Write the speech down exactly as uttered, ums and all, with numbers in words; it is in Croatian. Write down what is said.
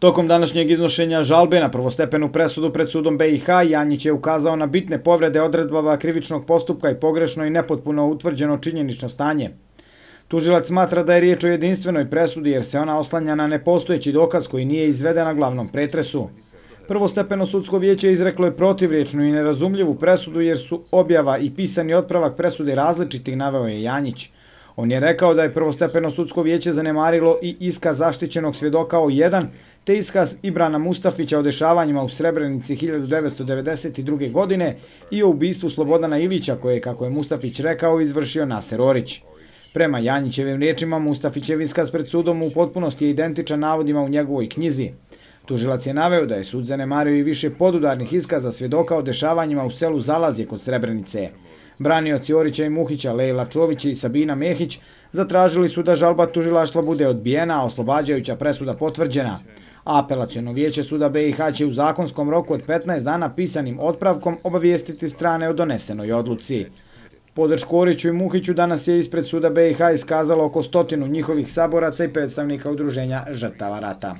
Tokom današnjeg iznošenja žalbe na prvostepenu presudu pred sudom B i H, Janjić je ukazao na bitne povrede odredbama krivičnog postupka i pogrešno i nepotpuno utvrđeno činjenično stanje. Tužilac smatra da je riječ o jedinstvenoj presudi jer se ona oslanja na nepostojeći dokaz koji nije izveden na glavnom pretresu. Prvostepeno sudsko vijeće izreklo je protivriječnu i nerazumljivu presudu jer su objava i pisani otpravak presude različitih, naveo je Janjić. On je rekao da je prvostepeno sudsko vijeće zanemarilo i iskaz zaštićenog svjedoka O jedan, te iskaz Ibrana Mustafića o dešavanjima u Srebrenici hiljadu devetsto devedeset druge. godine i o ubistvu Slobodana Ilića koje, kako je Mustafić rekao, izvršio Naser Orić. Prema Janjićevim riječima, Mustafićev iskaz pred sudom u potpunosti je identičan navodima u njegovoj knjizi. Tužilac je naveo da je sud zanemario i više podudarnih iskaza svjedoka o dešavanjima u selu Zalazje kod Srebrenice. Branioci Orića i Muhića, Lejla Čović i Sabina Mehić zatražili su da žalba tužilaštva bude odbijena, a oslobađajuća presuda potvrđena. Apelaciono vijeće suda B i H će u zakonskom roku od petnaest dana pisanim otpravkom obavijestiti strane o donesenoj odluci. Podršku Oriću i Muhiću danas je ispred suda B i H iskazalo oko stotinu njihovih saboraca i predstavnika udruženja žrtava rata.